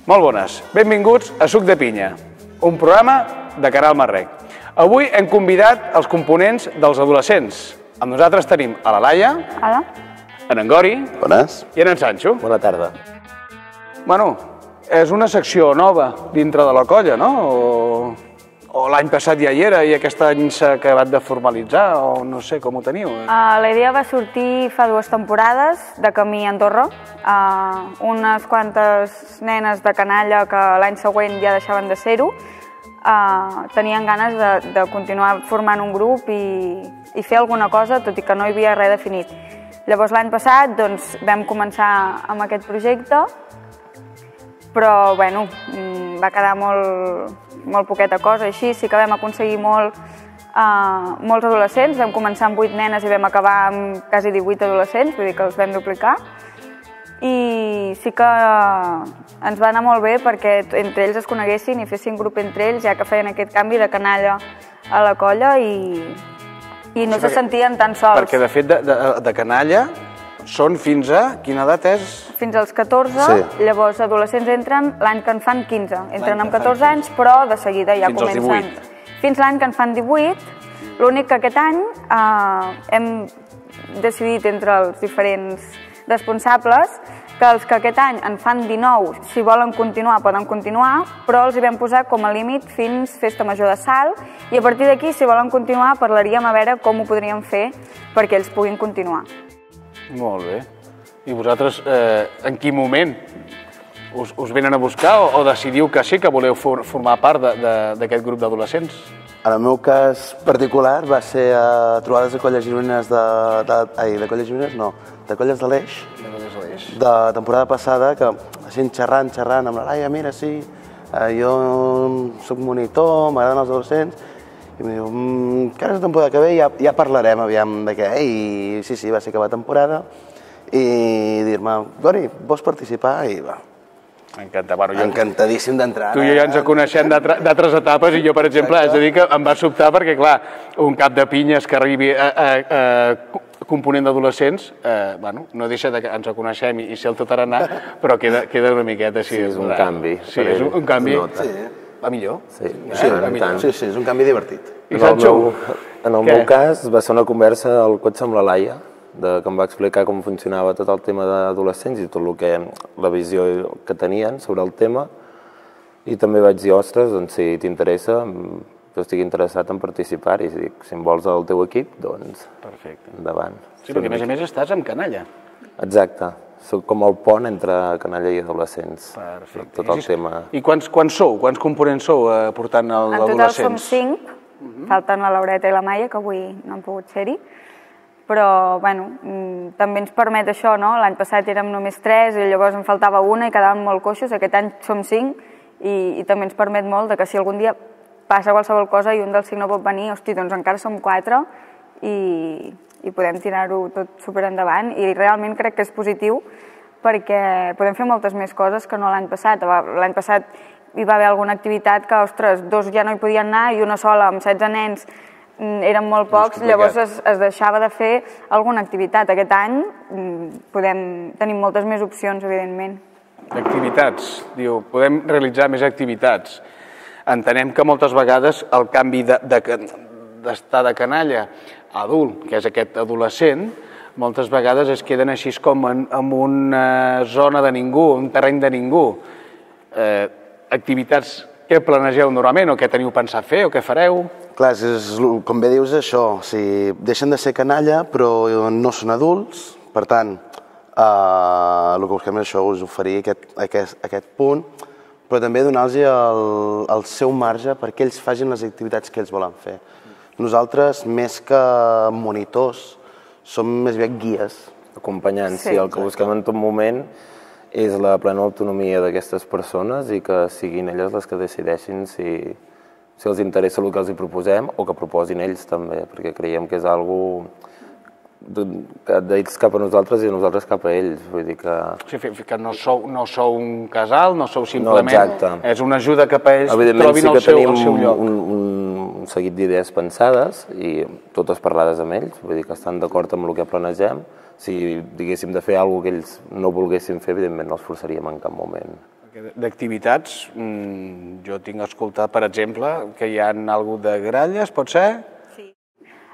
Molt bones. Benvinguts a Suc de Pinya, un programa de Canal Marrec. Avui hem convidat els components dels adolescents. Amb nosaltres tenim a la Laia, Hola. en Gori Bones. i en Sancho. Bona tarda. Bueno, és una secció nova dintre de la colla, no? O l'any passat ja hi era i aquest any s'ha acabat de formalitzar, o no sé com ho teniu. La idea va sortir fa 2 temporades de camí a Andorra. Unes quantes nenes de canalla que l'any següent ja deixaven de ser-ho tenien ganes de continuar formant un grup i fer alguna cosa, tot i que no hi havia res definit. Llavors l'any passat vam començar amb aquest projecte, però bueno, va quedar molt poqueta cosa, així sí que vam aconseguir molts adolescents, vam començar amb 8 nenes i vam acabar amb quasi 18 adolescents, vull dir que els vam duplicar, i sí que ens va anar molt bé perquè entre ells es coneguessin i fessin grup entre ells, ja que feien aquest canvi de canalla a la colla i no se sentien tan sols. Perquè de fet de canalla són fins a... Quina edat és? Fins als 14, sí. Llavors adolescents entren l'any que en fan 15. Entren amb 14 anys, però de seguida ja comencen... Fins als 18. Fins l'any que en fan 18. L'únic que aquest any hem decidit entre els diferents responsables que els que aquest any en fan 19, si volen continuar, poden continuar, però els hi vam posar com a límit fins Festa Major de Salt i a partir d'aquí, si volen continuar, parlaríem a veure com ho podríem fer perquè ells puguin continuar. Molt bé. I vosaltres, en quin moment us venen a buscar o decidiu que sí, que voleu formar part d'aquest grup d'adolescents? En el meu cas particular va ser a trobades de colles gironines de colles gironines, no, de colles de l'Eix, de temporada passada, que així xerrant amb la Laia, mira, sí, jo soc monitor, m'agraden els adolescents, i em diu, que ara és la temporada que ve ja parlarem aviam de què, i sí, va ser acabar temporada, i dir-me, Gori, vols participar? I va. M'encanta. Bueno, encantadíssim d'entrar. Tu i jo ja ens coneixem d'altres etapes i jo, per exemple, haig de dir que em va sobtar perquè, clar, un cap de pinyes que arribi a component d'adolescents, bueno, no deixa que ens coneixem i ser el tot tarannà, però queda una miqueta així. Sí, és un canvi. Sí, és un canvi. Va millor? Sí, sí, és un canvi divertit. I Sancho? En el meu cas va ser una conversa al cotxe amb la Laia, que em va explicar com funcionava tot el tema d'adolescents i tot la visió que tenien sobre el tema, i també vaig dir, ostres, doncs si t'interessa, jo estic interessat en participar i si em vols al teu equip, doncs endavant. Sí, perquè a més estàs amb canalla. Exacte, soc com el pont entre canalla i adolescents. Perfecte. Tot el tema. I quants sou? Quants components sou portant l'adolescents? En total som 5, falten la Laureta i la Maia, que avui no han pogut ser-hi. Però, bueno, també ens permet això, no? L'any passat érem només 3 i llavors en faltava una i quedàvem molt coixos. Aquest any som 5 i també ens permet molt que si algun dia passa qualsevol cosa i un dels 5 no pot venir, hosti, doncs encara som 4 i podem tirar-ho tot super endavant. I realment crec que és positiu perquè podem fer moltes més coses que no l'any passat. L'any passat hi va haver alguna activitat que, ostres, 2 ja no hi podien anar i una sola amb 16 nens eren molt pocs, llavors es deixava de fer alguna activitat. Aquest any tenim moltes més opcions, evidentment. Activitats, diu, podem realitzar més activitats. Entenem que moltes vegades el canvi d'estar de canalla a adult, que és aquest adolescent, moltes vegades es queden així com en una zona de ningú, un terreny de ningú. Activitats que planegeu normalment o què teniu pensat fer o què fareu? Clar, com bé dius això, deixen de ser canalla però no són adults, per tant, el que busquem és això, us oferir aquest punt, però també donar-los el seu marge perquè ells facin les activitats que ells volen fer. Nosaltres, més que monitors, som més aviat guies. Acompanyants, sí, el que busquem en tot moment és la plena autonomia d'aquestes persones i que siguin elles les que decideixin si els interessa el que els hi proposem o que proposin ells també, perquè creiem que és algo d'ells cap a nosaltres i de nosaltres cap a ells. Vull dir que... O sigui, que no sou un casal, no sou simplement... No, exacte. És una ajuda cap a ells, trobin el seu lloc. Evidentment sí que tenim un seguit d'idees pensades i totes parlades amb ells, vull dir que estan d'acord amb el que planegem. Si diguéssim de fer alguna cosa que ells no volguessin fer, evidentment no els forçaríem en cap moment. D'activitats, jo tinc escoltat, per exemple, que hi ha alguna de gralles, pot ser? Sí.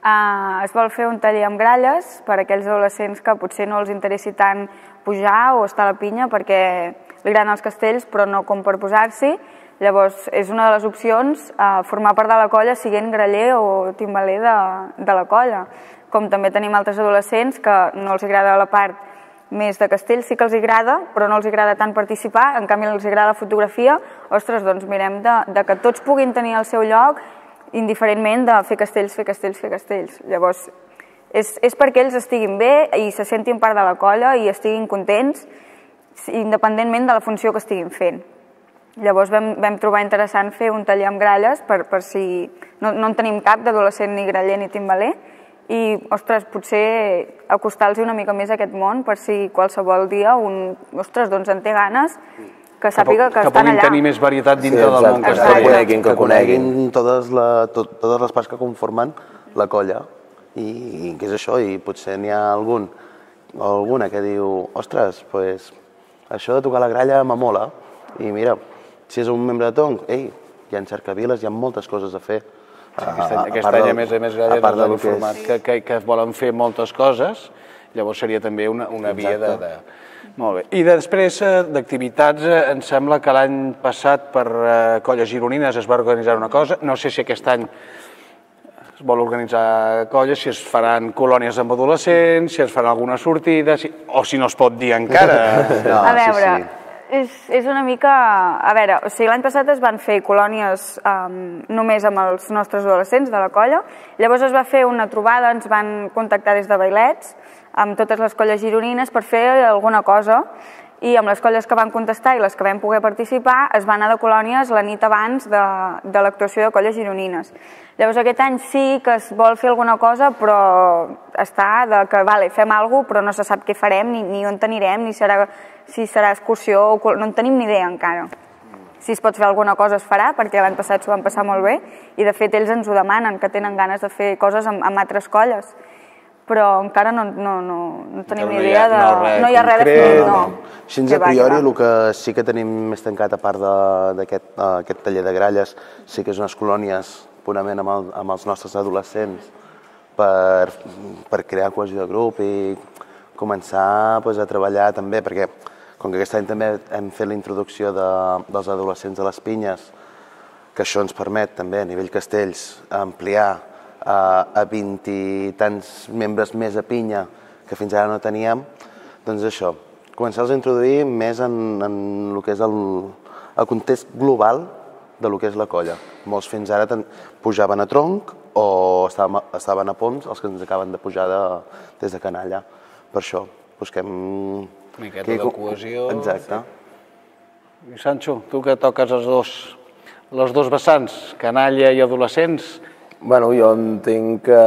Es vol fer un taller amb gralles per a aquells adolescents que potser no els interessi tant pujar o estar a la pinya perquè li agraden els castells però no com per posar-s'hi. Llavors, és una de les opcions formar part de la colla siguent graller o timbaler de la colla. Com també tenim altres adolescents que no els agrada la part més de castells, sí que els agrada, però no els agrada tant participar, en canvi els agrada la fotografia. Ostres, doncs mirem de que tots puguin tenir el seu lloc indiferentment de fer castells, fer castells, fer castells. Llavors, és perquè ells estiguin bé i se sentin part de la colla i estiguin contents, independentment de la funció que estiguin fent. Llavors vam trobar interessant fer un taller amb gralles per si no en tenim cap d'adolescent ni graller ni timbaler i, ostres, potser acostar-los una mica més a aquest món per si qualsevol dia ostres, doncs en té ganes, que sàpiga que estan allà. Que puguin tenir més varietat dintre del món castell. Que coneguin totes les parts que conformen la colla i què és això, i potser n'hi ha alguna que diu ostres, doncs això de tocar la gralla m'amola i mira, si és un membre de Tonc, ei, hi ha cercaviles, hi ha moltes coses a fer. Aquest any, a més gralla, han informat que volen fer moltes coses, llavors seria també una via de... Molt bé. I després d'activitats, em sembla que l'any passat per Colles Gironines es va organitzar una cosa, no sé si aquest any es vol organitzar colles, si es faran colònies amb adolescents, si es farà alguna sortida, o si no es pot dir encara. A veure, és una mica... A veure, o sigui, l'any passat es van fer colònies només amb els nostres adolescents de la colla, llavors es va fer una trobada, ens van contactar des de Vailets, amb totes les colles gironines per fer alguna cosa i amb les colles que van contestar i les que vam poder participar es va anar de colònies la nit abans de l'actuació de colles gironines. Llavors aquest any sí que es vol fer alguna cosa però està de que fem alguna cosa però no se sap què farem ni on anirem ni si serà excursió, no en tenim ni idea encara. Si es pot fer alguna cosa es farà perquè l'any passat s'ho van passar molt bé i de fet ells ens ho demanen, que tenen ganes de fer coses amb altres colles. Però encara no tenim ni idea de... No hi ha res definit, no. Així a priori el que sí que tenim més tancat a part d'aquest taller de gralles sí que és unes colònies purament amb els nostres adolescents per crear cohesió de grup i començar a treballar també perquè com que aquest any també hem fet la introducció dels adolescents a les pinyes que això ens permet també a nivell castells ampliar a 20 i tants membres més a pinya que fins ara no teníem, doncs això, començar a introduir més en el que és el context global de lo que és la colla. Molts fins ara pujaven a tronc o estaven a poms, els que ens acaben de pujar des de canalla. Per això busquem... Una miqueta de cohesió... Exacte. I Sancho, tu que toques els dos vessants, canalla i adolescents... Bueno, jo entenc que,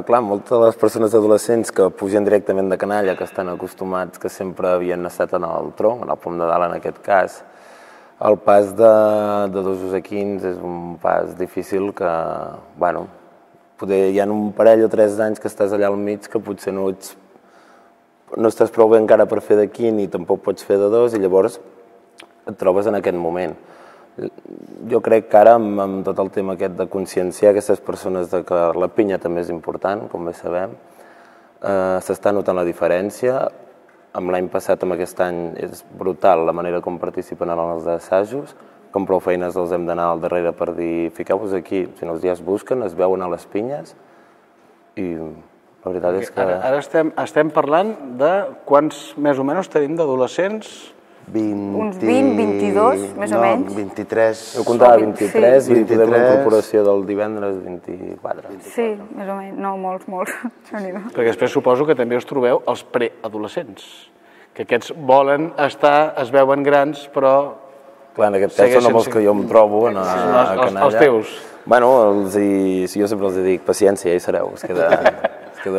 clar, moltes de les persones adolescents que pugen directament de canalla, que estan acostumats, que sempre havien estat en el tronc, en el pom de dalt en aquest cas, el pas de 2 a 15 és un pas difícil que, bueno, poder hi ha un parell o 3 anys que estàs allà al mig que potser no estàs prou bé encara per fer de 15 i tampoc pots fer de 2 i llavors et trobes en aquest moment. Jo crec que ara, amb tot el tema aquest de conscienciar aquestes persones de que la pinya també és important, com bé sabem, s'està notant la diferència. Amb l'any passat, amb aquest any, és brutal la manera com participen en els assajos, com prou feines els hem d'anar al darrere per dir fiqueu-vos aquí, si no els dies busquen, es veuen a les pinyes i la veritat és que... Ara estem parlant de quants més o menys tenim d'adolescents? Uns 20, 22, més o menys. 23. Jo comptava 23 i podem la incorporació del divendres 24. Sí, més o menys. No, molts. Perquè després suposo que també us trobeu els preadolescents, que aquests volen estar, es veuen grans, però... Clar, en aquest cas són els que jo em trobo a canalla. Els teus. Bueno, jo sempre els dic paciència, ja hi sereu, es queden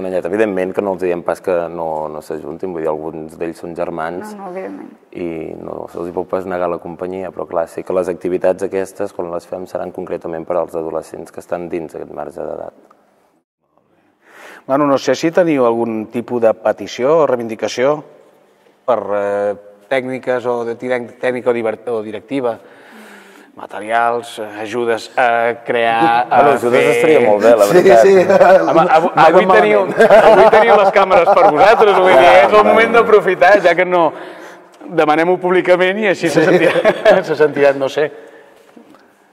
allà. Evidentment que no els diem pas que no s'ajuntin, vull dir, alguns d'ells són germans i no se'ls pot pas negar la companyia, però clar, sí que les activitats aquestes, quan les fem, seran concretament per als adolescents que estan dins aquest marge d'edat. Bueno, no sé si teniu algun tipus de petició o reivindicació per tècniques o de tècnica o directiva, materials, ajudes a crear... Ajudes estaria molt bé, la veritat. Sí. Avui teniu les càmeres per vosaltres, vull dir, és el moment d'aprofitar, ja que no... Demanem-ho públicament i així se sentiran, no sé,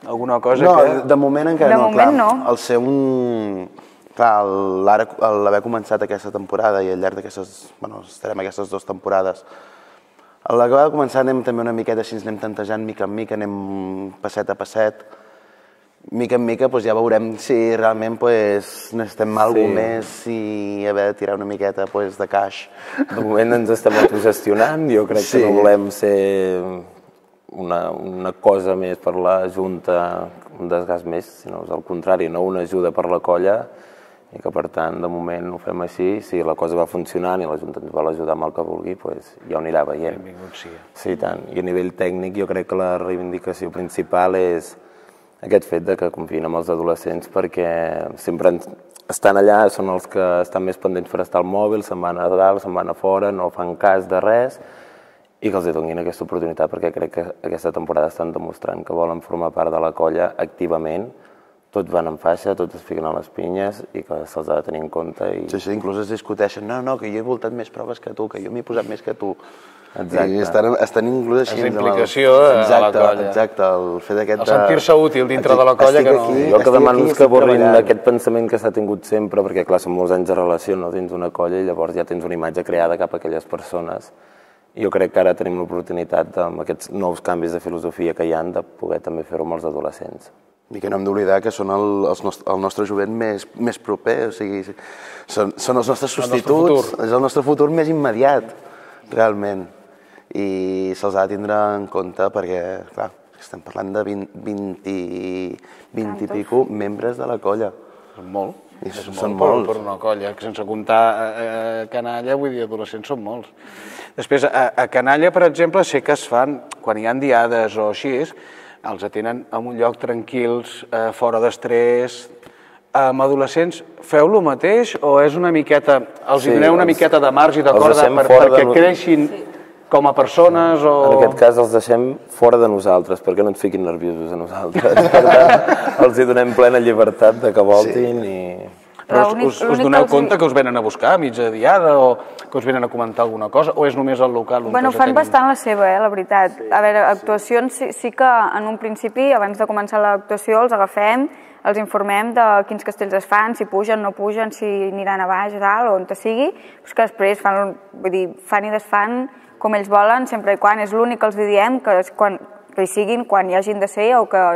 alguna cosa que... No, de moment encara no. De moment no. Al ser un... Clar, l'haver començat aquesta temporada i al llarg d'aquestes... Bueno, estarem aquestes 2 temporades. A l'acabar de començar anem també una miqueta així, anem tantejant mica en mica, anem passet a passet. Mica en mica ja veurem si realment necessitem alguna més i haver de tirar una miqueta de caix. De moment ens estem autogestionant, jo crec que no volem ser una cosa més per la Junta, un desgast més, sinó al contrari, no una ajuda per la colla, i que per tant de moment ho fem així, si la cosa va funcionant i la Junta ens vol ajudar amb el que vulgui, ja ho anirà veient. Benvingut sigui. Sí, tant. I a nivell tècnic jo crec que la reivindicació principal és aquest fet de que confiïn amb els adolescents perquè sempre estan allà, són els que estan més pendents per estar al mòbil, se'n van a dalt, se'n van a fora, no fan cas de res, i que els donin aquesta oportunitat perquè crec que aquesta temporada estan demostrant que volen formar part de la colla activament, tots van en faixa, tots es fiquen a les pinyes i que se'ls ha de tenir en compte. Sí, inclús es discuteixen, no, que jo he voltat més proves que tu, que jo m'he posat més que tu. Exacte. I estan inclús així... És la implicació de la colla. Exacte, el fet d'aquest... El sentir-se útil dintre de la colla que no... Jo el que demano és que borrin aquest pensament que s'ha tingut sempre, perquè clar, són molts anys de relació dins d'una colla i llavors ja tens una imatge creada cap a aquelles persones. I jo crec que ara tenim l'oportunitat, amb aquests nous canvis de filosofia que hi ha, de poder també fer-ho amb els adolescents. I que no hem d'oblidar que són el nostre jovent més proper, o sigui, són els nostres substituts, és el nostre futur més immediat, realment. I se'ls ha de tindre en compte perquè, clar, estem parlant de 20 i pico membres de la colla. Són molt. Són molts. Per una colla, que sense comptar canalla, vull dir, adolescents són molts. Després, a canalla, per exemple, sé que es fan, quan hi ha diades o així, els atenen en un lloc tranquils, fora d'estrès. Amb adolescents, feu lo mateix o és una miqueta, els doneu una miqueta de marge i de corda perquè creixin com a persones o... En aquest cas els deixem fora de nosaltres, perquè no ens fiquin nerviosos a nosaltres. Per tant, els hi donem plena llibertat de que voltin i... Però us doneu compte que us venen a buscar a mitja diada o que us venen a comentar alguna cosa o és només el local? Bueno, fan bastant la seva, la veritat. A veure, actuacions sí que en un principi, abans de començar l'actuació, els agafem, els informem de quins castells es fan, si pugen, no pugen, si aniran a baix, a dalt, o on sigui, però que després fan i desfan com ells volen, sempre i quan. És l'únic que els diem que hi siguin quan hi hagin de ser o que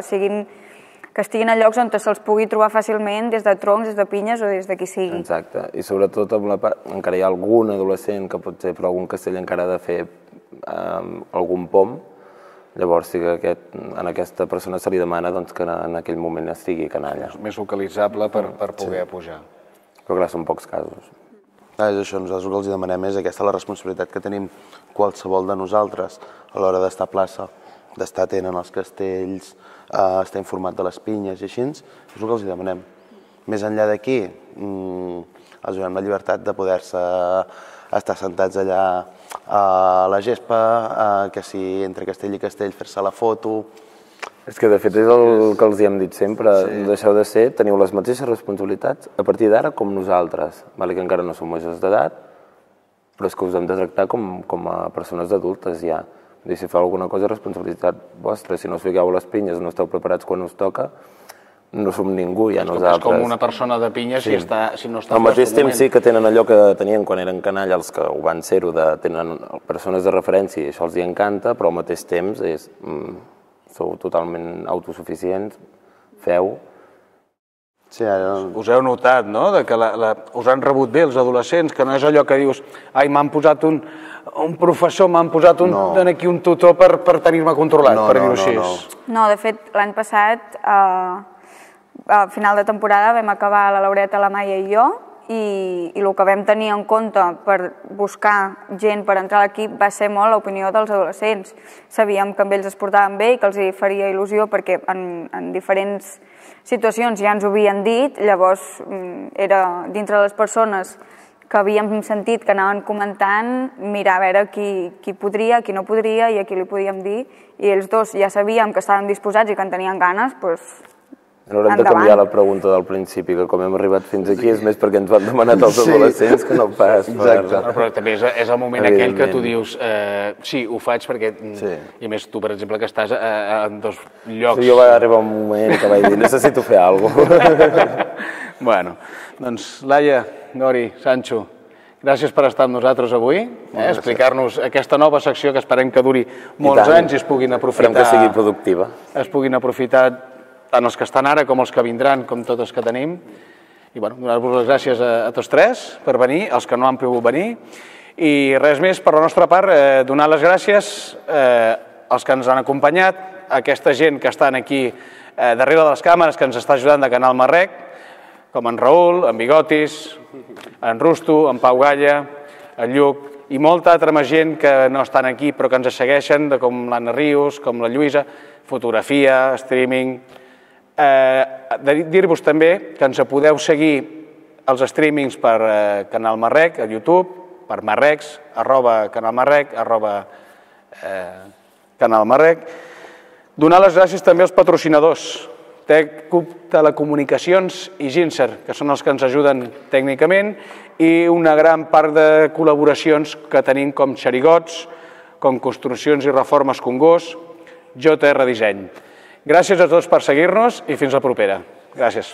estiguin a llocs on se'ls pugui trobar fàcilment des de troncs, des de pinyes o des de qui sigui. Exacte, i sobretot encara hi ha algun adolescent que potser per algun castell encara ha de fer algun pom, llavors sí que a aquesta persona se li demana que en aquell moment estigui canalla. Més localitzable per poder pujar. Però clar, són pocs casos. És això, nosaltres el que els demanem és aquesta la responsabilitat que tenim qualsevol de nosaltres a l'hora d'estar a plaça, d'estar atent en els castells, estar informat de les pinyes i així, és el que els demanem. Més enllà d'aquí, els donem la llibertat de poder-se estar sentats allà a la gespa, que si entre castell i castell fer-se la foto... És que de fet és el que els hem dit sempre, deixeu de ser, teniu les mateixes responsabilitats a partir d'ara com nosaltres, que encara no som majors d'edat, però és que us hem de tractar com a persones adultes ja. Si feu alguna cosa, responsabilitat vostra. Si no us fiqueu a les pinyes, no esteu preparats quan us toca, no som ningú, ja nosaltres. És com una persona de pinya si no està... Al mateix temps sí que tenen allò que tenien quan eren canalla, els que ho van ser-ho, tenen persones de referència i això els hi encanta, però al mateix temps sou totalment autosuficients, feu... Us heu notat, no?, que us han rebut bé els adolescents, que no és allò que dius ai, m'han posat un professor, m'han posat aquí un tutor per tenir-me controlat, per dir-ho així. No, de fet, l'any passat, a final de temporada, vam acabar la Laureta, la Maia i jo, i el que vam tenir en compte per buscar gent per entrar a l'equip va ser molt l'opinió dels adolescents. Sabíem que amb ells es portaven bé i que els hi faria il·lusió perquè en diferents situacions ja ens ho havien dit, llavors era dintre de les persones que havíem sentit que anaven comentant, mirar a veure qui podria, qui no podria i a qui li podíem dir, i ells dos ja sabíem que estaven disposats i que en tenien ganes, doncs haurem de canviar la pregunta del principi, que com hem arribat fins aquí és més perquè ens ho han demanat els adolescents que no pas per... Però també és el moment aquell que tu dius sí, ho faig perquè... I a més tu, per exemple, que estàs en dos llocs... Jo va arribar un moment que vaig dir necessito fer alguna cosa. Bueno, doncs Laia, Nori, Sancho, gràcies per estar amb nosaltres avui, explicar-nos aquesta nova secció que esperem que duri molts anys i es puguin aprofitar... Esperem que sigui productiva. Es puguin aprofitar tant els que estan ara com els que vindran, com tots els que tenim. I bueno, donar-vos les gràcies a tots tres per venir, els que no han pogut venir. I res més, per la nostra part, donar les gràcies als que ens han acompanyat, a aquesta gent que estan aquí darrere de les càmeres, que ens està ajudant de Canal Marrec, com en Raül, en Bigotis, en Rusto, en Pau Galla, en Lluc, i molta altra més gent que no estan aquí però que ens segueixen, com l'Anna Rius, com la Lluïsa, fotografia, streaming... Dir-vos també que ens podeu seguir els streamings per Canal Marrec, a YouTube, per Marrecs, @canalmarrec, @canalmarrec. Donar les gràcies també als patrocinadors, TECUP Telecomunicacions i Ginser, que són els que ens ajuden tècnicament, i una gran part de col·laboracions que tenim com Xerigots, com Construccions i Reformes Congost, JR Disseny. Gràcies a tots per seguir-nos i fins la propera. Gràcies.